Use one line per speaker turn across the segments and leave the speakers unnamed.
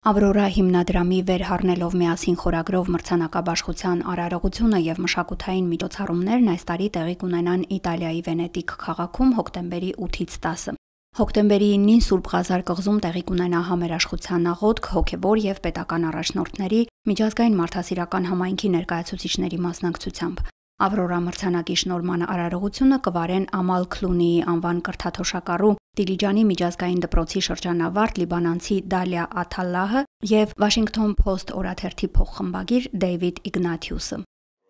Ավրորա հիմնադրամի վերհառնելով միասին խորագրով մրցանակաբաշխության արարողությունը եւ մշակութային միջոցառումներն այս տարի տեղի կունենան Իտալիայի Վենետիկ քաղաքում հոկտեմբերի 8-ից 10։ Հոկտեմբերի 9-ին Սուրբ Ղազար կղզում տեղի կունենա համերաշխության աղոթք, հոգեվոր եւ պետական առաջնորդների, միջազգային մարդասիրական համայնքի ներկայացուցիչների մասնակցությամբ։ Ավրորա մրցանակի շնորհման արարողությունը կվարեն Ամալ Քլունիի անվան կրթաթոշակառու Դիլիջանի միջազգային դպրոցի շրջանավարտ լիբանանցի Դալիա Աթալլահը եւ Washington Post օրաթերթի փոխխմբագիր Դեյվիդ Իգնաթիուսը։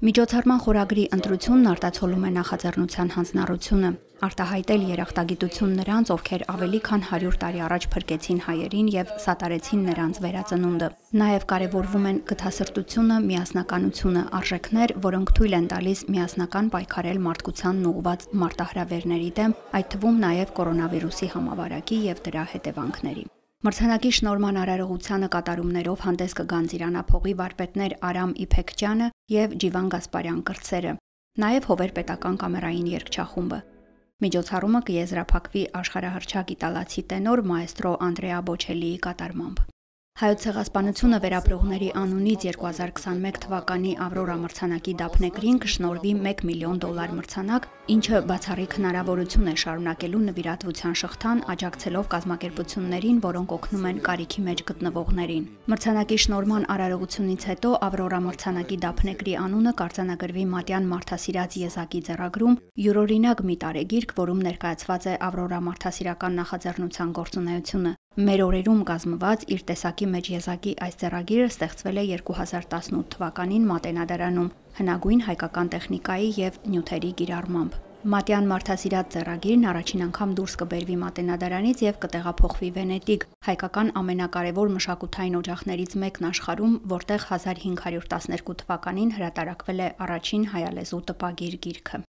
Միջոցառման խորագրի ընտրությունն արտացոլում է նախաձեռնության հանձնառությունը, արտահայտել երախտագիտություն նրանց, ովքեր ավելի քան 100 տարի առաջ փրկեցին հայերին եւ սատարեցին նրանց վերածնունդը։ Նաեւ կարեւորվում են գթասրտությունը, միասնականությունը, արժեքներ, որոնք թույլ են տալիս միասնական պայքարել մարդկությանն ուղղված մարտահրավերների դեմ, այդ թվում նաեւ կորոնավիրուսի համավարակի եւ դրա հետևանքների։ Մրցանակի շնորհման արարողությանը կատարումներով հանդես կգան Ծիրանափողի վարպետներ Արամ Իփեքչյանը եւ Ջիվան Գասպարյան կրտսերը, նաեւ Հովեր պետական կամերային երգչախումբը։ Միջոցառումը կեզրափակվի աշխարհահռչակ իտալացի տենոր մաեստրո Անդրեա Բոչելիի կատարմամբ։ Հայոց ցեղասպանությունը վերապրողների անունից 2021 թվականի Ավրորա մրցանակի դափնեկրին կշնորհվի $1 միլիոն մրցանակ, ինչը բացառիկ հնարավորություն է շարունակելու նվիրատվության շղթան, աջակցելով կազմակերպություններին, որոնք օգնում են կարիքի մեջ գտնվողներին։ Մրցանակի շնորհման արարողությունից հետո Ավրորա մրցանակի դափնեկրի անունը կարձանագրվի Մատյան մարդասիրած եզակի ձեռագրում, յուրօրինակ մի տարեգիրք, որում ներկայացված է Ավրորա մարդասիրական նախաձեռնության գործունեությունը։ Մեր օրերում կազմված իր տեսակի մեջ եզակի այս ձեռագիրը ստեղծվել է 2018 թվականին Մատենադարանում հնագույն հայկական տեխնիկայի եւ նյութերի կիրառմամբ։ Մատյան մարդասիրած ձեռագիրն առաջին անգամ դուրս կբերվի Մատենադարանից եւ կտեղափոխվի Վենետիկ, հայկական ամենակարևոր մշակութային օջախներից մեկն աշխարհում, որտեղ 1512 թվականին հրատարակվել է առաջին հայալեզու տպագիր գիրքը։